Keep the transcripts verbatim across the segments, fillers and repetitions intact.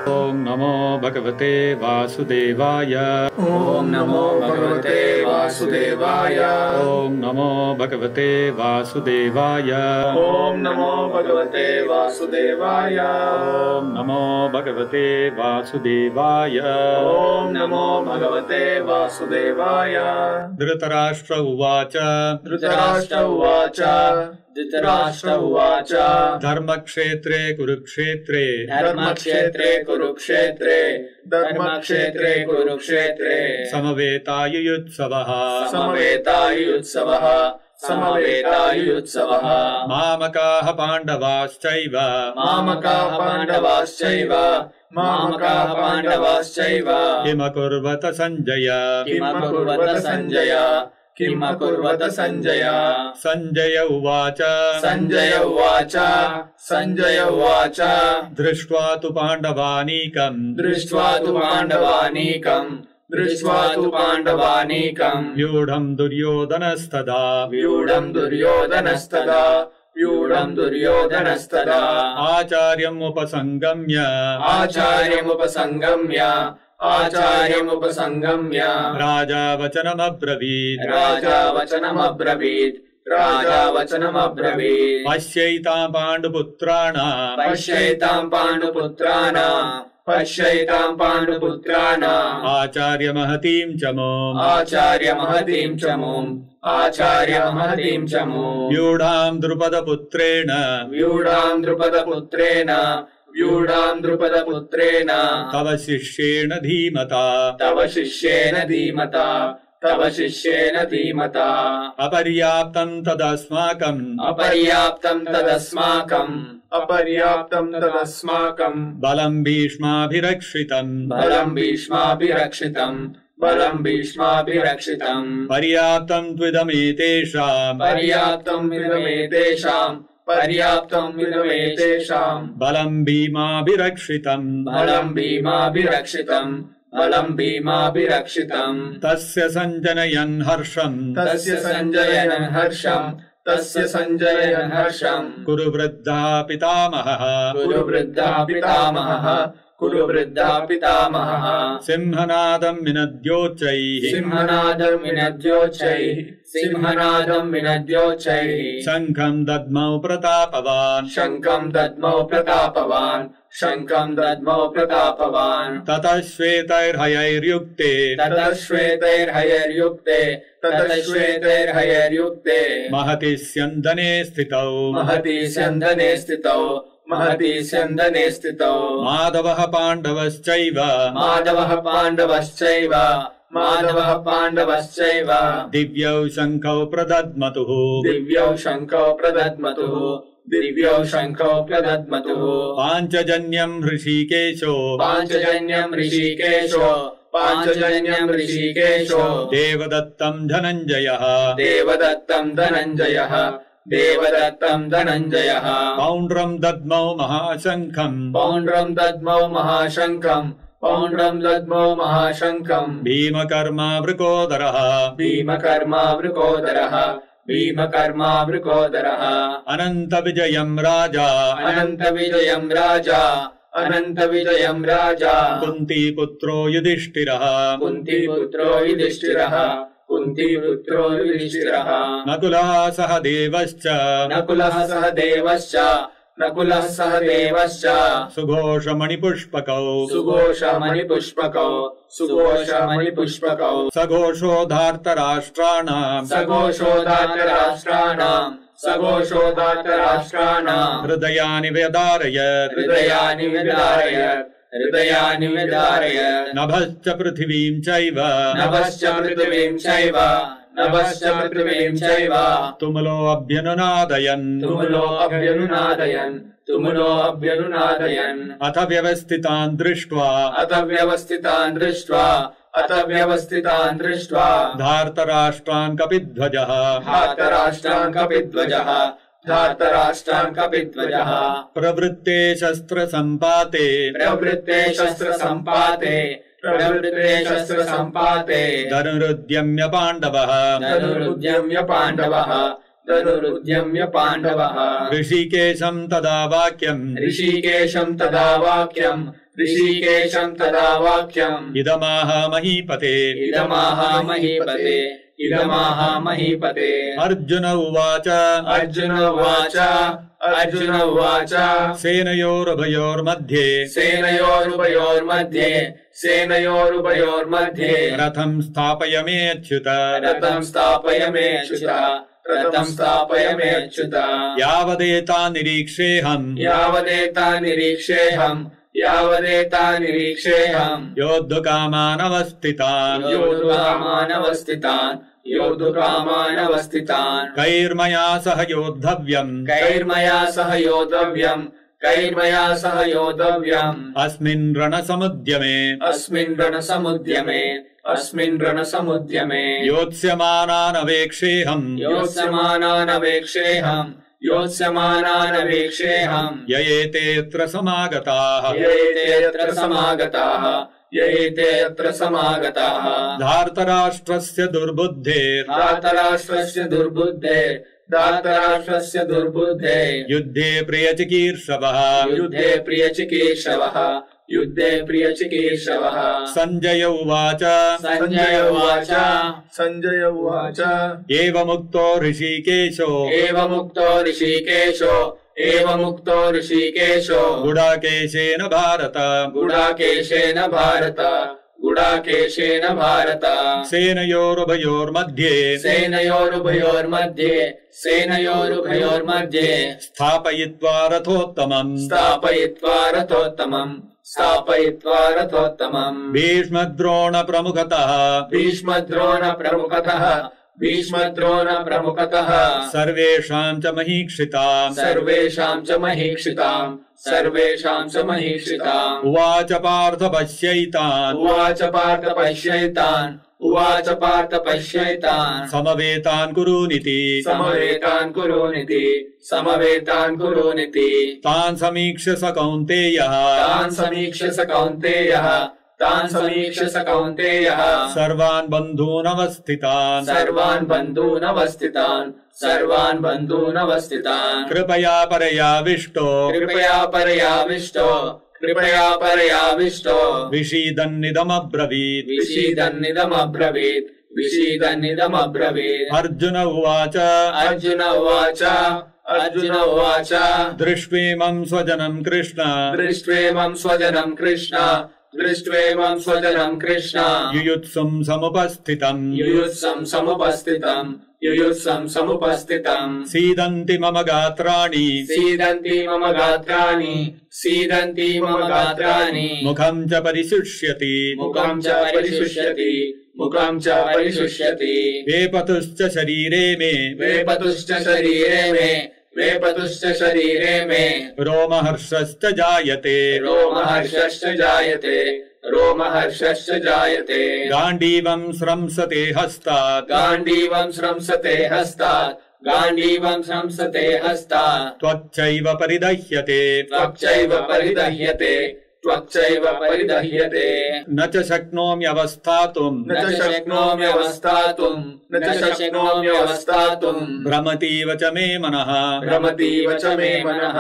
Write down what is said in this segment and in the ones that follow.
ओम नमो भगवते वासुदेवाय। ओम नमो भगवते वासुदेवाय। ओम नमो भगवते वासुदेवाय। ओम नमो भगवते वासुदेवाय। ओम नमो भगवते वासुदेवाय। ओम नमो भगवते वासुदेवाय। धृतराष्ट्र उवाच। धृतराष्ट्र उवाच। धृतराष्ट्र उवाच। धर्मक्षेत्रे कुरुक्षेत्रे। धर्मक्षेत्रे कुरुक्षेत्रे। धर्मक्षेत्रे कुरुक्षेत्रे। समवेतायुयुत्सवः। समवेतायुयुत्सवः। समवेतायुयुत्सवः। मामकाः पाण्डवाश्चैव। मामकाः पाण्डवाश्चैव। मामकाः पाण्डवाश्चैव। किमकुर्वत सञ्जय। किमकुर्वत सञ्जय। किमकुर्वत सञ्जय। सञ्जय उवाच। सञ्जय उवाच। सञ्जय उवाच। दृष्ट्वा तु पाण्डवानीकम्। दृष्ट्वा तु पाण्डवानीकम्। दृष्ट्वा तु पाण्डवानीकम्। व्यूढम् दुर्योधनस्तदा। व्यूढम् दुर्योधनस्तदा। व्यूढम् दुर्योधनस्तदा। आचार्यमुपसङ्गम्य। आचार्यमुपसङ्गम्य। आचार्यमुपसङ्गम्य। राजा वचनमब्रवीत्। राजा वचनमब्रवीत्। राजा वचनमब्रवीत्। पश्यैताम् पाण्डुपुत्राणाम्। पश्यैताम् पाण्डुपुत्राणाम्। पश्यैताम् पाण्डुपुत्राणाम्। आचार्यमहतीम् च मोम्। आचार्यमहतीम् च मोम्। आचार्यमहतीम् च मोम्। व्यूढाम् द्रुपदपुत्रेण। व्यूढाम् द्रुपदपुत्रेण। व्यूढाम् द्रुपदपुत्रेण। तव शिष्येण धीमता। तव शिष्येन धीमता। तव शिष्येन धीमता। अपर्याप्तम् तदस्माकम्। अपर्याप्तम् तदस्माकम्। अपर्याप्तम् तदस्माकम्। बलम् भीष्माभिरक्षितम्। बलम् भीष्माभिरक्षितम्। बलम् भीष्माभिरक्षितम्। पर्याप्तम् त्विदमेतेषाम्। पर्याप्तम् विदमेतेषाम्। पर्याप्तम् विदमेतेषाम्। बलम् भीमाभिरक्षितम्। बलम् भीमाभिरक्षितम्। बलम् भीमाभिरक्षितम्। तस्य सञ्जनयन् हर्षम्। तस्य सञ्जयन् हर्षम्। तस्य सञ्जयन् हर्षम्। कुरु वृद्धः पितामहः। कुरु वृद्धः पितामहः। कुरु वृद्धः पितामहः। सिंहनादम् विनद्योच्चैः। सिंहनादम् विनद्योच्चैः। सिंहनादम् विनद्योच्चैः। शङ्खम् दद्मौ प्रतापवान्। शङ्खम् दद्मौ प्रतापवान्। शङ्खम् दद्मौ प्रतापवान्। ततः श्वेतैर्हयैर्युक्ते। ततः श्वेतैर्हयैर्युक्ते। ततः श्वेतैर्हयैर्युक्ते। महति स्यन्दने स्थितौ। महति स्यन्दने स्थितौ। महति स्यन्दने स्थितौ। माधवः पाण्डवश्चैव। माधवः पाण्डवश्चैव। माधवः पाण्डवश्चैव। दिव्यौ शङ्खौ प्रदद्मतुः। दिव्यौ शङ्खौ प्रदद्मतुः। दिव्यौ शङ्खौ प्रदद्मतुः। पाञ्चजन्यम् ऋषिकेशो। पाञ्चजन्यम् ऋषिकेशो। पाञ्चजन्यम् ऋषिकेशो। देवदत्तम् धनञ्जयः। देवदत्तम् धनञ्जयः। देवदत्तम् धनञ्जयः। पौण्ड्रम् दद्मौ महाशङ्खम्। पौण्ड्रम् दद्मौ महाशङ्खम्। पौण्ड्रम् दद्मौ महाशङ्खम्। भीमकर्मा वृकोदरः। भीमकर्मा वृकोदरः। भीमकर्मा वृकोदरः। अनन्तविजयम् राजा। अनन्तविजयम् राजा। अनन्तविजयम् राजा। कुन्तीपुत्रो युधिष्ठिरः। कुन्तीपुत्रो युधिष्ठिरः। कुन्तीपुत्रो युधिष्ठिरः। नकुलः सह देवश्च। नकुलः सह देवश्च। नकुलः सह देवश्च। सुघोषमणिपुष्पकौ। सुघोषमणिपुष्पकौ। सुघोषमणिपुष्पकौ। सघोषोधार्तराष्ट्राणाम्। सघोषोधार्तराष्ट्राणाम्। सघोषोधार्तराष्ट्राणाम्। हृदयानि व्यदारयत्। हृदयानि व्यदारयत्। हृदयानि व्यदारयत्। नभश्च पृथिवीम् चैव। नभश्च पृथिवीम् चैव। नभश्च पृथिवीम् चैव। तुमुलो अभ्यनुनादयन्। तुमुलो अभ्यनुनादयन्। तुमुलो अभ्यनुनादयन्। अथ व्यवस्थितान् दृष्ट्वा। अथ व्यवस्थितान् दृष्ट्वा। अथ व्यवस्थितान् दृष्ट्वा। धार्तराष्ट्रान् कपिध्वजः। धार्तराष्ट्रान् कपिध्वजः। धार्तराष्ट्रान् कपिध्वजः। प्रवृत्ते शस्त्रसम्पाते। प्रवृत्ते शस्त्रसम्पाते। प्रवृत्ते शस्त्रसम्पाते। धनुरुद्यम्य पाण्डवः। धनुरुद्यम्य पाण्डवः। धनुरुद्यम्य पाण्डवः ऋषिकेशम् तदा वाक्यम् ऋषिकेशम् तदा वाक्यम् ऋषिकेशम् तदा वाक्यम् इदमाह महीपते इदमाह महीपते इदमाह महीपते अर्जुन उवाच अर्जुन उवाच अर्जुन उवाच सेनयोरुभयोर्मध्ये सेनयोरुभयोर्मध्ये सेनयोरुभयोर्मध्ये रथम् स्थापयमेच्युत रथम् स्थापयमेच्युत रथम् स्थापयमेच्युत यावदेता निरीक्षेऽहम् यावदेता निरीक्षेऽहम् यावदेता निरीक्षेऽहम् योद्धुकामानवस्थितान् योद्धुकामानवस्थितान् योद्धुकामानवस्थितान् कैर्मया सह योद्धव्यम् कैर्मया सह योद्धव्यम् कैर्मया सह योद्धव्यम् अस्मिन् रणसमुद्यमे अस्मिन् रणसमुद्यमे अस्मिन् रणसमुद्यमे योत्स्यमानानवेक्षेऽहम् योत्स्यमानानवेक्षेऽहम् योत्स्यमानानवेक्षेऽहम् य एतेऽत्र समागताः येतेऽत्र समागताः येतेऽत्र समागताः धार्तराष्ट्रस्य दुर्बुद्धेर् धार्तराष्ट्रस्य दुर्बुद्धेर् धार्तराष्ट्रस्य दुर्बुद्धेर् युद्धे प्रियचिकीर्षवः युद्धे प्रियचिकीर्षवः युद्धे प्रियचिकीर्षवः सञ्जय उवाच सञ्जय उवाच सञ्जय उवाच एवमुक्तो ऋषिकेशो एवमुक्तो ऋषिकेशो एवमुक्तो ऋषिकेशो गुडाकेशेन भारत गुडाकेशेन भारत गुडाकेशेन भारत सेनयोरुभयोर्मध्ये सेनयोरुभयोर्मध्ये सेनयोरुभयोर्मध्ये स्थापयित्वा रथोत्तमम् स्थापयित्वा रथोत्तमम् स्थापयित्वा रथोत्तमम् भीष्मद्रोणप्रमुखतः भीष्मद्रोणप्रमुखतः भीष्मद्रोणप्रमुखतः सर्वेषाम् च महीक्षिताम् सर्वेषाम् च महीक्षिताम् सर्वेषाम् च महीक्षिताम् उवाच पार्थ पश्यैतान् उवाच पार्थ पश्यैतान् उवाच पार्थ पश्यैतान् समवेतान् कुरूनिति समवेतान् कुरूनिति समवेतान् कुरूनिति तान् समीक्ष्य स कौन्तेयः तान् समीक्ष्य स कौन्तेयः तान् समीक्ष्य स कौन्तेयः सर्वान् बन्धूनवस्थितान् सर्वान् बन्धूनवस्थितान् सर्वान् बन्धूनवस्थितान् कृपया परयाविष्टो कृपया परयाविष्टो कृपया परयाविष्टो विषीदन्निदमब्रवीत् विषीदन्निदमब्रवीत् विषीदन्निदमब्रवीत् अर्जुन उवाच अर्जुन उवाच अर्जुन उवाच दृष्ट्वेमम् स्वजनम् कृष्ण दृष्ट्वेमम् स्वजनम् कृष्ण दृष्ट्वेमम् स्वजनम् कृष्ण युयुत्सुम् समुपस्थितम् युयुत्सम् समुपस्थितम् युयुत्सम् समुपस्थितम् सीदन्ति मम गात्राणि सीदन्ति मम गात्राणि सीदन्ति मम गात्राणि मुखम् च परिशुष्यति मुखम् च परिशुष्यति मुखम् च परिशुष्यति वेपतुश्च शरीरे मे वेपतुश्च शरीरे मे वेपतुश्च शरीरे मे रोमहर्षश्च जायते रोमहर्षश्च जायते रोमहर्षश्च जायते गाण्डीवम् स्रंसते हस्तात् गाण्डीवम् स्रंसते हस्तात् गाण्डीवम् स्रंसते हस्तात् त्वच्चैव परिदह्यते त्वच्चैव परिदह्यते त्वच्चैव परिदह्यते न च शक्नोम्यवस्थातुम् न च शक्नोम्यवस्थातुम् न च शक्नोम्यवस्थातुम् भ्रमतीव च मे मनः भ्रमतीव च मे मनः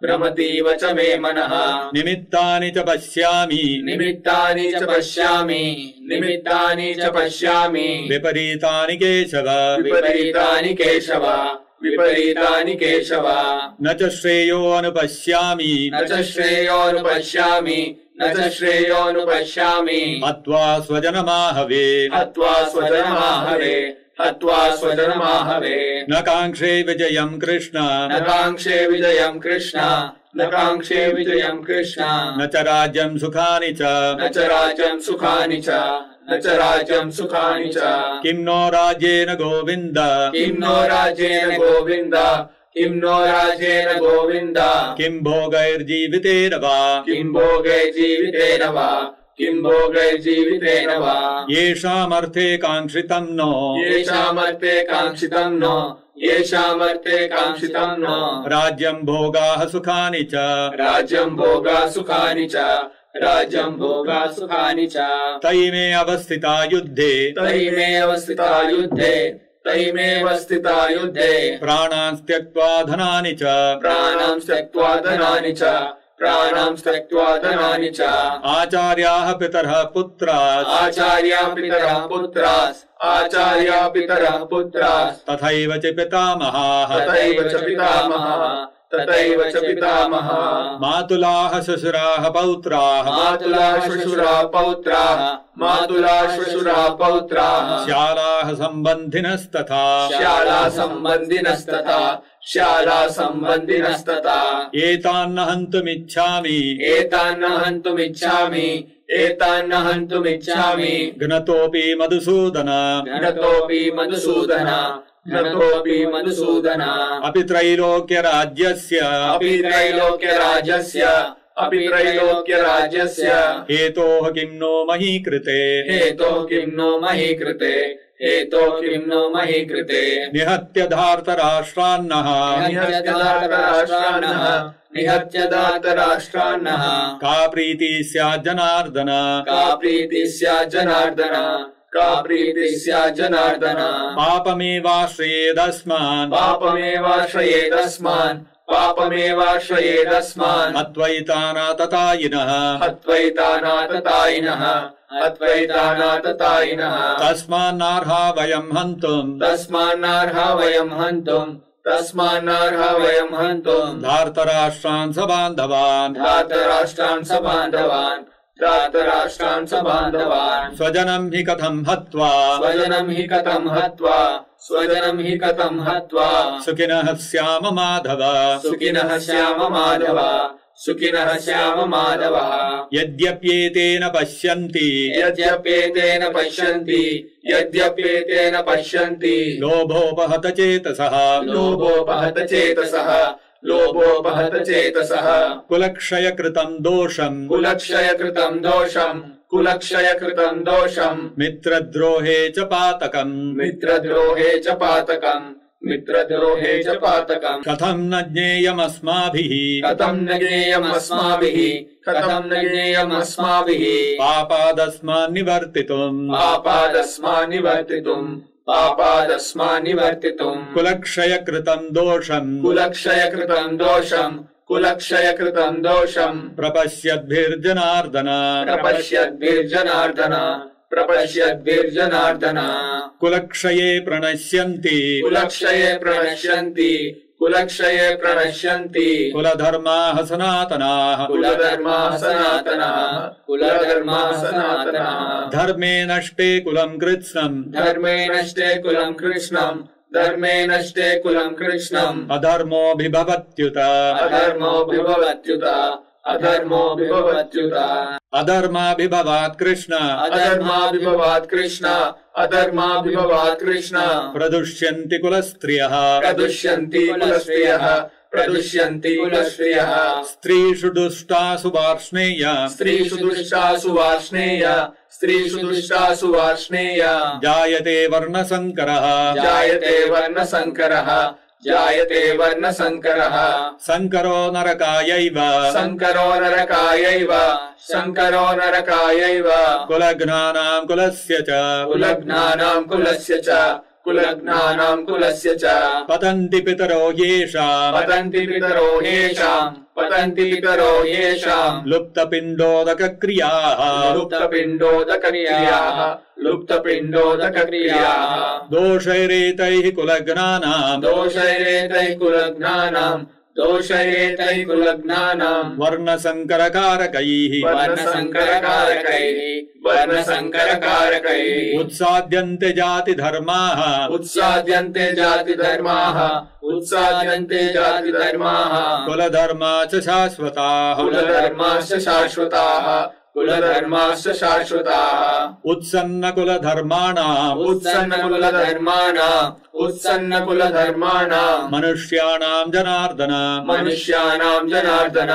भ्रमतीव च मे मनः निमित्तानि च पश्यामि निमित्तानि च पश्यामि निमित्तानि च पश्यामि विपरीतानि केशव विपरीतानि केशव विपरीतानि केशव न च श्रेयोऽनुपश्यामि न च श्रेयोऽनुपश्यामि न च श्रेयोऽनुपश्यामि हत्वा स्वजनमाहवे हत्वा स्वजनमाहवे हत्वा स्वजनमाहवे न काङ्क्षे विजयम् कृष्ण न काङ्क्षे विजयम् कृष्ण न काङ्क्षे विजयम् कृष्ण न च राज्यम् सुखानि च न च राज्यम् सुखानि च न च राज्यम् सुखानि च किम् नो राज्येन गोविन्द किम् नो राज्येन गोविन्द किम् नो राज्येन गोविन्द किम् भोगैर्जीवितेन वा किम् भोगैर्जीवितेन वा किम् भोगैर्जीवितेन वा येषामर्थे काङ्क्षितम् नो येषामर्थे काङ्क्षितम् नो येषामर्थे काङ्क्षितम् नो राज्यम् भोगाः सुखानि च राज्यम् भोगा सुखानि च राज्यम् भोगा सुखानि च तयि मे अवस्थिता युद्धे तयि मे अवस्थिता युद्धे तैमेव स्थिता युद्धे प्राणान् त्यक्त्वा धनानि च प्राणां त्यक्त्वा धनानि च प्राणां त्यक्त्वा धनानि च आचार्याः पितरः पुत्राः आचार्या पितरः पुत्रास् आचार्या पितरः पुत्रास् तथैव च पितामहाः तथैव च पितामहः तथैव च पितामहः मातुलाः श्वशुराः पौत्राः मातुलाः श्वशुराः पौत्राः मातुलाः श्वशुराः पौत्राः श्यालाः सम्बन्धिनस्तथा श्याला सम्बन्धिनस्तथा श्याला सम्बन्धिनस्तथा एतान्न हन्तुमिच्छामि एतान्न हन्तुमिच्छामि एतान्न हन्तुमिच्छामि घ्नतोऽपि मधुसूदन घ्नतोऽपि मधुसूदन घ्नतोऽपि मधुसूदन अपि त्रैलोक्यराज्यस्य अपि त्रैलोक्यराज्यस्य अपि त्रैलोक्यराज्यस्य हेतोः किं नो मही कृते हेतोः किं नो मही कृते हेतोः किं नो मही कृते निहत्य धार्तराष्ट्रान्नः निहत्य धार्तराष्ट्रान्नः निहत्य धार्तराष्ट्रान्नः का प्रीतिः स्यात् जनार्दन का प्रीतिः स्यात् जनार्दन का प्रीतिः स्यात् जनार्दन पापमेवाश्रयेदस्मान् पापमेवाश्रयेदस्मान् पापमेवाश्रयेदस्मान् अद्वैतानाततायिनः अद्वैतानाततायिनः अद्वैतानाततायिनः तस्मान्नार्हा वयम् हन्तुम् तस्मान्नार्हा वयम् हन्तुम् तस्मान्नार्हा वयम् हन्तुम् धार्तराष्ट्रान् सबान्धवान् धार्तराष्ट्रान् सबान्धवान् धार्तराष्ट्रान् सबान्धवान् स्वजनम् हि कथम् हत्वा स्वजनम् हि कथम् हत्वा स्वजनम् हि कथम् हत्वा सुखिनः स्याम माधव सुखिनः स्याम माधव सुखिनः स्याम माधव यद्यप्येतेन पश्यन्ति यद्यप्येतेन पश्यन्ति यद्यप्येतेन पश्यन्ति लोभोपहत चेतसः लोभोपहत चेतसः लोभोपहत चेतसः कुलक्षय कृतम् दोषम् कुलक्षय कृतम् दोषम् कुलक्षय कृतम् दोषम् मित्रद्रोहे च पातकम् मित्रद्रोहे च पातकम् मित्रद्रोहे च पातकम् कथम् न ज्ञेयमस्माभिः कथम् न ज्ञेयमस्माभिः कथम् न ज्ञेयमस्माभिः पापादस्मान् निवर्तितुम् पापादस्मान् निवर्तितुम् पापादस्मान् निवर्तितुम् कुलक्षय कृतम् दोषम् कुलक्षय कृतम् दोषम् कुलक्षय कृतम् दोषम् प्रपश्यद्भिर्जनार्दन प्रपश्यद्भिर्जनार्दन प्रपश्यद्भिर्जनार्दन कुलक्षये प्रणश्यन्ति कुलक्षये प्रणश्यन्ति कुलक्षये प्रणश्यन्ति कुलधर्माः सनातनाः कुलधर्माः सनातनाः कुलधर्माः सनातनाः धर्मे नष्टे कुलम् कृत्स्नम् धर्मे नष्टे कुलम् कृष्णम् धर्मे नष्टे कुलम् कृष्णम् अधर्मोऽभिभवत्युत अधर्मोऽभिभवत्युत अधर्मोऽभिभवत्युत अधर्माभिभवात् कृष्ण अधर्माभिभवात् कृष्ण अधर्माभिभवात् कृष्ण प्रदुष्यन्ति कुलस्त्रियः प्रदुष्यन्ति कुलस्त्रियः प्रदुष्यन्ति कुलस्त्रियः स्त्रीषु दुष्टासु वार्ष्णेय स्त्रीषु दुष्टासु वार्ष्णेय स्त्रीषु दुष्टासु वार्ष्णेय जायते वर्णसङ्करः जायते वर्णसङ्करः जायते वर्णसङ्करः सङ्करो नरकायैव सङ्करो नरकायैव सङ्करो नरकायैव कुलघ्नानाम् कुलस्य च कुलघ्नानाम् कुलस्य च कुलघ्नानाम् कुलस्य च पतन्ति पितरो येषाम् पतन्ति पितरो येषाम् पतन्ति पितरो येषाम् लुप्तपिण्डोदकक्रियाः लुप्तपिण्डोदकक्रियाः लुप्तपिण्डोदकक्रियाः दोषैरेतैः कुलघ्नानाम् दोषैरेतैः कुलघ्नानाम् दोषैरेतैः कुलघ्नानाम् वर्णसङ्करकारकैः वर्णसङ्करकारकैः वर्णसङ्करकारकैः उत्साद्यन्ते जातिधर्माः उत्साद्यन्ते जातिधर्माः उत्साद्यन्ते जातिधर्माः कुलधर्मा च शाश्वताः कुलधर्माश्च शाश्वताः कुलधर्माश्च शाश्वताः उत्सन्नकुलधर्माणाम् उत्सन्नकुलधर्माणाम् उत्सन्नकुलधर्माणाम् मनुष्याणाम् जनार्दन मनुष्याणाम् जनार्दन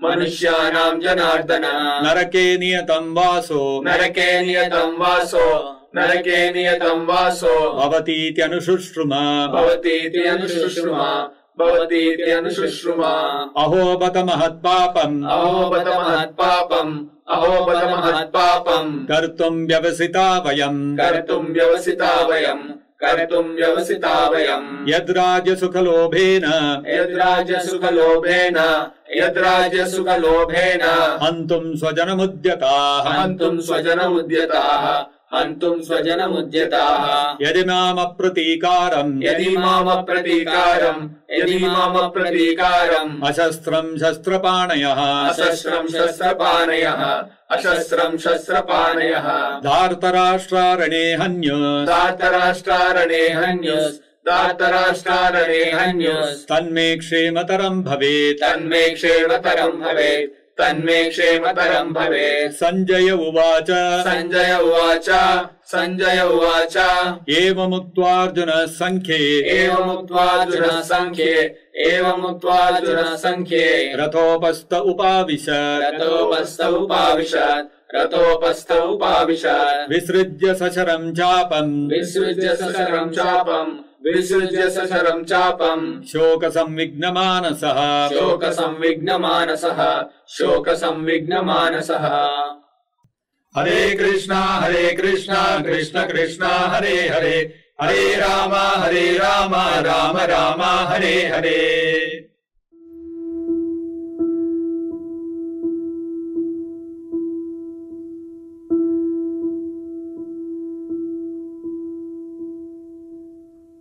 मनुष्याणाम् जनार्दन नरके नियतम् वासो नरके नियतम् वासो नरके नियतम् वासो भवतीत्यनुशुश्रुमा भवतीति अनुशुश्रुमा भवतीति अनुशुश्रुमा अहो बत महत्पापम् अहो बत महत्पापम् अहो बत महत्पापम् कर्तुम् व्यवसिता वयम् कर्तुम् व्यवसिता वयम् कर्तुम् व्यवसिता वयम् यद्राज्यसुखलोभेन यद्राज्यसुखलोभेन यद्राज्यसुखलोभेन हन्तुम् स्वजनमुद्यताः हन्तुम् स्वजनमुद्यताः हन्तुम् स्वजनमुद्यताः यदि मामप्रतीकारम् यदि मामप्रतीकारम् यदि मामप्रतीकारम् अशस्त्रम् शस्त्रपाणयः अशस्त्रम् शस्त्रपाणयः अशस्त्रम् शस्त्रपाणयः धार्तराष्ट्रारणे हन्युः धार्तराष्ट्रारणे हन्युस् धार्तराष्ट्रारणे हन्युस् तन्मे क्षेमतरम् भवेत् तन्मे क्षेमतरम् भवेत् तन्मे क्षेमतरम् भवेत् सञ्जय उवाच सञ्जय उवाच सञ्जय उवाच एवमुक्त्वार्जुनः सङ्ख्ये एवमुक्त्वार्जुनः सङ्ख्ये एवमुक्त्वार्जुनः सङ्ख्ये रथोपस्थ उपाविशत् रथोपस्थ उपाविशत् रथोपस्थ उपाविशत् विसृज्य सशरम् चापम् विसृज्य सशरम् चापम् विसृज्य सशरम् चापम् शोकसंविघ्नमानसः शोकसंविघ्नमानसः शोकसंविघ्नमानसः हरे कृष्णा हरे कृष्णा कृष्ण कृष्णा हरे हरे हरे राम हरे राम राम राम हरे हरे।